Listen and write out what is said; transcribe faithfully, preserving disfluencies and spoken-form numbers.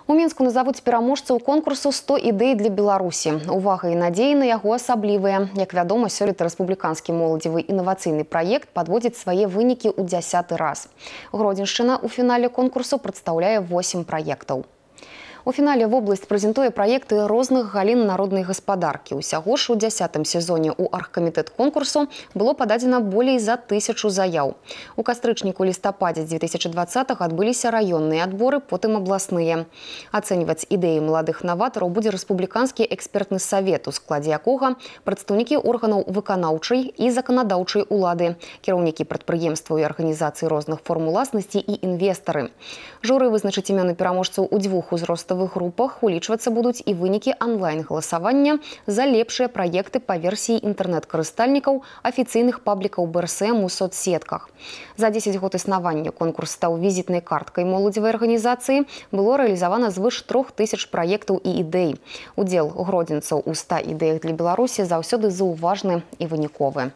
У Мінску назавуць пераможцаў конкурсу сто ідэй для Беларусі. Увага і надзеі на яго асаблівыя. Як вядома, сёлета рэспубліканскі моладзевы інавацыйны праект падводзіць свае вынікі ў дзясяты раз. Гродзеншчына ў фінале конкурсу прадстаўляе восем праектаў. У фінале вобласць прэзентуе праекты розных галін народнай гаспадаркі. Усяго ж у дзясятым сезоне ў аргкамітэт конкурсу было пададзена болей за тысячу заяў. У кастрычніку-лістападзе дзве тысячы дваццатага адбыліся раённыя адборы, потым абласныя. Ацэньваць ідэі маладых наватараў будзе рэспубліканскі экспертны савет, у складзе якога прадстаўнікі органаў выканаўчай і заканадаўчай улады, кіраўнікі прадпрыемстваў і арганізацый розных форм уласнасці і інвестары. Журы вызначыць імёны пераможцаў у дзвюх узроставых групах, улічвацца будуць і вынікі онлайн-галасавання за лепшыя праекты па версіі інтэрнэт-карыстальнікаў афіцыйных паблікаў бэ эр эс эм у соцсетках. За дзесяць год існавання конкурс стаў візітнай карткай моладзевай арганізацыі. Было рэалізавана звыш трох тысяч праектаў і ідэй. Удзел гродзенцаў у ста ідэях для Беларусі заўсёды заўважны і выніковы.